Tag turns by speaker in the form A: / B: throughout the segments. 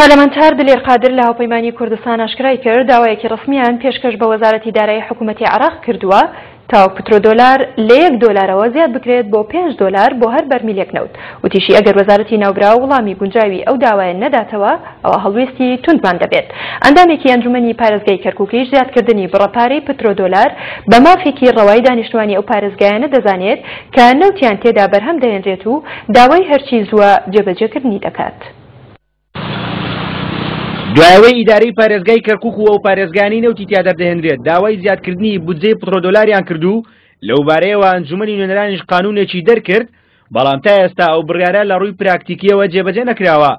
A: پەرلەمانتار دلێر قادر لە هاوپەیمانی کوردستان ئاشکرای کرد، داوایەکی ڕەسمییان پێشکەش بە وەزارەتی دارایی حکوومەتی عێراق کردووە تاوەک پترۆدۆلار لە یەک دۆلارەوە زیاد بکرێت بۆ پێنج دۆلار بۆ هەر بەرمیلێک نەوت. وتیشی، ئەگەر وەزارەتی ناوبراو وڵامی گونجاوی ئەو داوایە نەداتەوە، ئەوا هەڵوێستی توندمان دەبێت. ئەندامێکی ئەنجومەنی پارێزگای کەرکوکیش زیادکردنی بڕە پارەی پترۆدۆلار بە مافێکی ڕەوای دانیشتوانی ئەو پارێزگایانە دەزانێت کە نەوتیان تێدا بەرهەم دەهێنرێت و داوای هەرچی زووە جێبەجێکردنی دەکات.
B: دوای ئەوەی ئیدارەی پارێزگای کەرکوک و ئەو پارێزگایانەی نەوتی تیا دەردەهێنرێت داوای زیادکردنی بودجەی پترۆدۆلاریان کرد و لەوبارەیەوە ئەنجومەنی نوێنەرانیش قانونێکی دەرکرد، بەڵام تا ئێستا ئەو بڕیارە لە ڕووی پراکتیکیەوە جێبەجێ نەکراوە.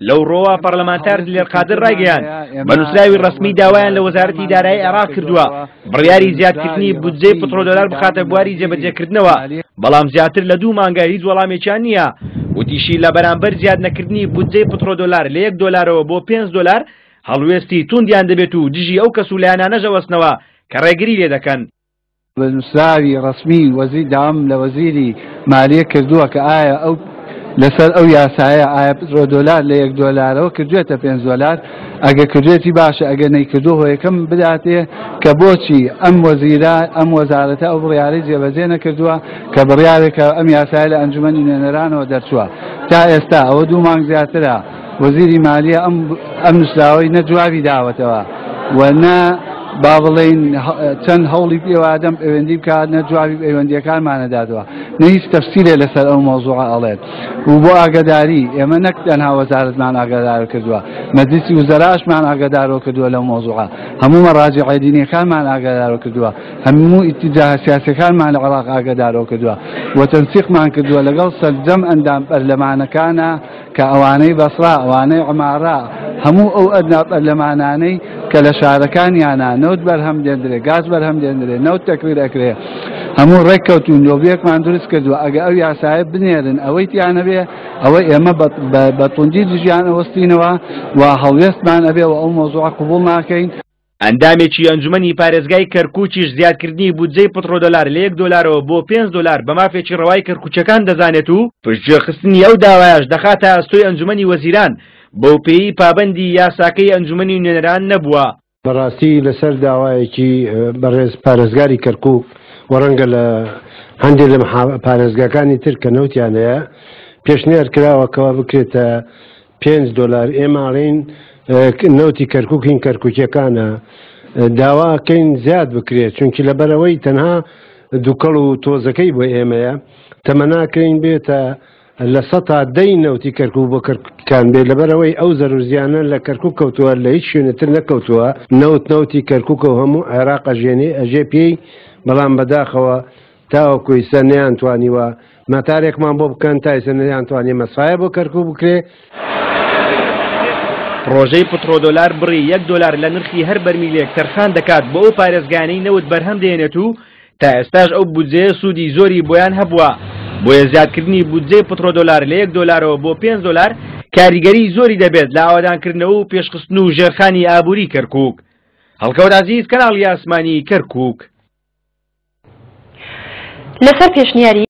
B: لەو ڕۆوە پەرلەمانتار دلێر قادر ڕایگەیاند، بە نووسراوی ڕەسمی داوایان لە وەزارەتی دارایی عێراق کردووە بڕیاری زیادکردنی بودجەی پترۆدۆلار بخاتە بواری جێبەجێکردنەوە، بەڵام زیاتر لە دوو مانگە هیچ وەڵامێکیان نییە. وتیشی، لە بەرامبەر زیادنەکردنی بودجەی پترۆدۆلار لە یەک دۆلارەوە بۆ پێنج دۆلار، هەڵوێستی توندیان دەبێت و دژی ئەو کەس و لایەنانەش ئەوەستنەوە کە ڕێگری لێدەکەن.
C: بە نووسراوی ڕەسمی وەزیر داوام لە وەزیری مالیە کردووە کە ئایا ئەو لەسەر ئەو یاسایە ئایا پترۆدۆلار لە یەک دۆلارەوە کردوێتە پێنج دۆلار، ئەگەر کردوێتی باشە، ئەگەر نەیکردووە هۆیەکەم بداتێ کە بۆچی ئەم وەزیرە ئەم وەزارەتە ئەو بڕیارەی جێبەجێ نەکردووە کە بڕیارێکە ئەم یاسایە لە ئەنجومەنی نوێنەرانەوە دەرچووە تا ئێستا ئەوە دوو مانگ زیاترە وەزیری مالیە ئەم ئەم نووسراوەی نە جوابی داوەتەوە و نە با بڵێین چەند هەوڵی پێوادەم پەیوەندی بکات نە جوابی پەیوەندیەکانمانە دادەوە نە هیچ تەفسیرێ لەسەر ئەو مەوزوعە ئەڵێت و بۆ ئاگاداری ئێمە نەک تەنها وەزارەتمان ئاگادار کردووە مەجلیسی وزەراشمان ئاگادارەوە کردووە لەو مەوزوعە هەموو مەراجعە دینیەکانمان ئاگادارەوە کردووە هەموو ئیتیجاهە سیاسیەکانمان لە عێراق ئاگادارەوە کردووە و تەنسیقمان کردووە لەگەڵ سەرجەم ئەندام پەرلەمانەکانە کە ئەوانەی بەسڕا، ئەوانەی عمارە، هەموو ئەو ئەدنا پەرلەمانانەی کە لە شارەکانیانا نەوت بەرهەم دێندرێ، گاز بەرهەم دێندرێ، نەوت تەکریر ئەکرێ، هەموو ڕێک کەوتوون، لۆبیەکمان دروست کردووە، ئەگە ئەو یاسایە بنێرن ئەوەی تیا نەبێ، ئەوە ئێمە بە توندی دژیان ئەوەستینەوە و هەڵوێستمان ئەبێ و ئەو مەوزوعە قبوڵ ناکەین.
B: ئەندامێکی ئەنجومەنی پارێزگای کەرکوکیش زیادکردنی بودجەی پترۆدۆلار لە یەک دۆلارەوە بۆ پێنج دۆلار بە مافێکی ڕەوای کەرکوکییەکان دەزانێت و پشتگوێخستنی ئەو داوایەش دەخاتە ئەستۆی ئەنجومەنی وەزیران، بەوپێیەی پابەندی یاساکەی ئەنجومەنی نوێنەران نەبووە.
D: بەڕاستی لەسەر داوایەکی بەڕێز پارێزگاری کەرکوک و ڕەنگە لە هەندێک لە پارێزگاکانی تر کە نەوتیان هەیە پێشنیار کراوە کەوا بکرێتە پێنج دۆلار ئێمە ئەڵێین نەوتی کەرکوک هین کەرکوکیەکانە داواکەین زیاد بکرێت چونکی لەبەرەوەی تەنها دووکەڵ و تۆزەکەی بۆ ئێمەیە تەمەناکەین بێتە لە سەتا دەی نەوتی کەرکوک بۆ کەرکوکان بێ لەبەرەوەی ئەو زەرورزیانە لە کەرکوک کەوتووە لە هیچ شوێنتر نەکەوتووە نەوت نەوتی کەرکوکە و هەموو عێراق ئەژێنێ ئەژێ پێی بەڵام بەداخەوە تاوەکو ئیستا نەیانتوانیوە مەتارێکمان بۆ بکەن، تا ئیستا نەیانتوانیە مەسفایە بۆ کەرکوک بکرێ.
B: پڕۆژەی پترۆدۆلار بڕی یەک دۆلار لە نرخی هەر بەرمیلێک تەرخان دەکات بۆ ئەو پارێزگایانەی نەوت بەرهەم دەهێنێت و تا ئێستاش ئەو بودجەیە سوودی زۆری بۆیان هەبووە، بۆیە زیادکردنی بودجەی پترۆدۆلار لە یەک دۆلارەوە بۆ پێنج دۆلار کاریگەریی زۆری دەبێت لە ئاوەدانکردنەوە و پێشخستن و ژێرخانی ئابووری کەرکوک. هەڵکەوت عەزیز، کەناڵی ئاسمانی کەرکوک.
A: لەسەر پێشنیاری.